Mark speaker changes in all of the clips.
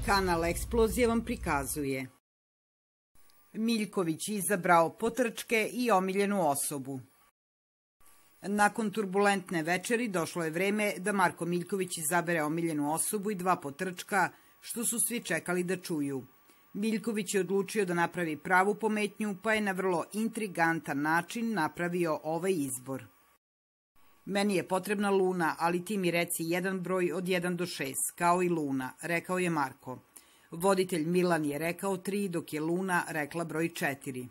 Speaker 1: Kanal Eksplozija vam prikazuje. Miljković izabrao potrčke i omiljenu osobu. Nakon turbulentne večeri došlo je vreme da Marko Miljković izabere omiljenu osobu i 2 potrčka, što su svi čekali da čuju. Miljković je odlučio da napravi pravu pometnju, pa je na vrlo intrigantan način napravio ovaj izbor. Meni je potrebna Luna, ali ti mi reci jedan broj od 1 do 6, kao i Luna, rekao je Marko. Voditelj Milan je rekao 3, dok je Luna rekla broj 4.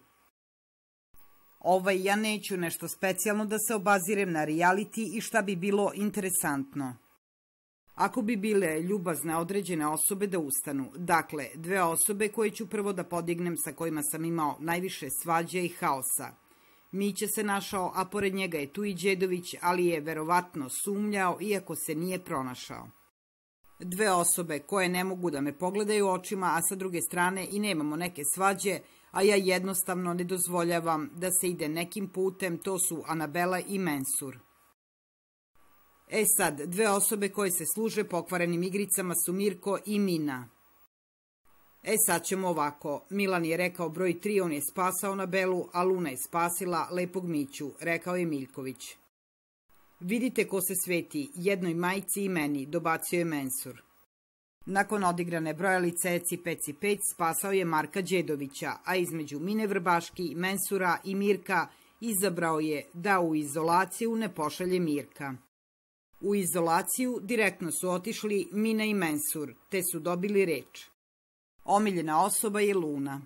Speaker 1: Ja neću nešto specijalno da se obazirem na reality i šta bi bilo interesantno. Ako bi bile ljubazne određene osobe da ustanu, dakle, 2 osobe koje ću prvo da podignem sa kojima sam imao najviše svađe i haosa. Mića se našao, a pored njega je tu i Đedović, ali je verovatno sumnjao, iako se nije pronašao. 2 osobe koje ne mogu da me pogledaju očima, a sa druge strane i nemamo neke svađe, a ja jednostavno ne dozvoljavam da se ide nekim putem, to su Anabela i Mensur. Sad, 2 osobe koje se služe pokvarenim igricama su Mirko i Mina. Sad ćemo ovako. Milan je rekao broj 3, on je spasao Anabelu, a Luna je spasila lepog Miću, rekao je Miljković. Vidite ko se sveti, jednoj majici i meni, dobacio je Mensur. Nakon odigrane brojalice Eci Peci Peć spasao je Marka Đedovića, a između Mine Vrbaški, Mensura i Mirka izabrao je da u izolaciju ne pošalje Mirka. U izolaciju direktno su otišli Mina i Mensur, te su dobili reč. Omiljena osoba je Luna.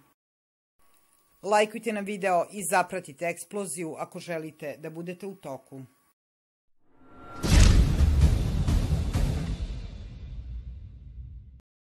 Speaker 1: Lajkujte na video i zapratite Eksploziju ako želite da budete u toku.